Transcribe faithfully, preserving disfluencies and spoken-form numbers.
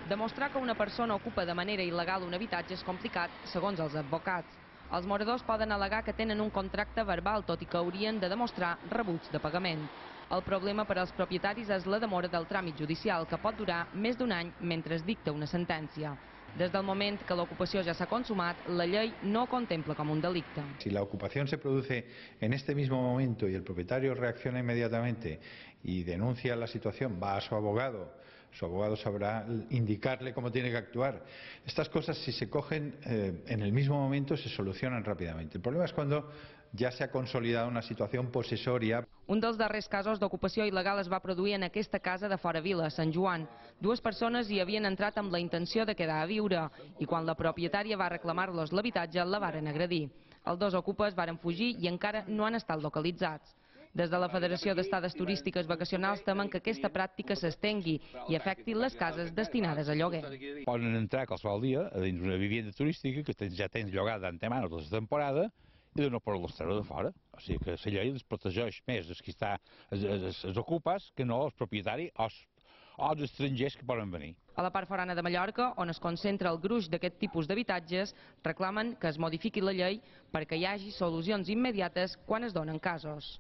Demostrar que una persona ocupa de manera il·legal un habitatge és complicat, segons els advocats. Els moradors poden al·legar que tenen un contracte verbal, tot i que haurien de demostrar rebuig de pagament. El problema per als propietaris és la demora del tràmit judicial, que pot durar més d'un any mentre es dicta una sentència. Des del moment que l'ocupació ja s'ha consumat, la llei no ho contempla com un delicte. Si la ocupación se produce en este mismo momento y el propietario reacciona inmediatamente y denuncia la situación, va a su abogado, su abogado sabrá indicarle cómo tiene que actuar. Estas cosas, si se cogen eh, en el mismo momento, se solucionan rápidamente. El problema es cuando ja s'ha consolidat una situació possessòria. Un dels darrers casos d'ocupació il·legal es va produir en aquesta casa de Fora Vila, Sant Joan. Dues persones hi havien entrat amb la intenció de quedar a viure i quan la propietària va reclamar-los l'habitatge la varen agredir. Els dos ocupes varen fugir i encara no han estat localitzats. Des de la Federació d'Estades Turístiques Vacacionals temen que aquesta pràctica s'estengui i afecti les cases destinades a lloguer. Poden entrar qualsevol dia a dins una vivenda turística que ja tens llogada d'antemano tota la temporada i de no poder-los treure de fora. O sigui que la llei els protegeix més els que està, els, els ocupes que no els propietaris o els, o els estrangers que poden venir. A la part forana de Mallorca, on es concentra el gruix d'aquest tipus d'habitatges, reclamen que es modifiqui la llei perquè hi hagi solucions immediates quan es donen casos.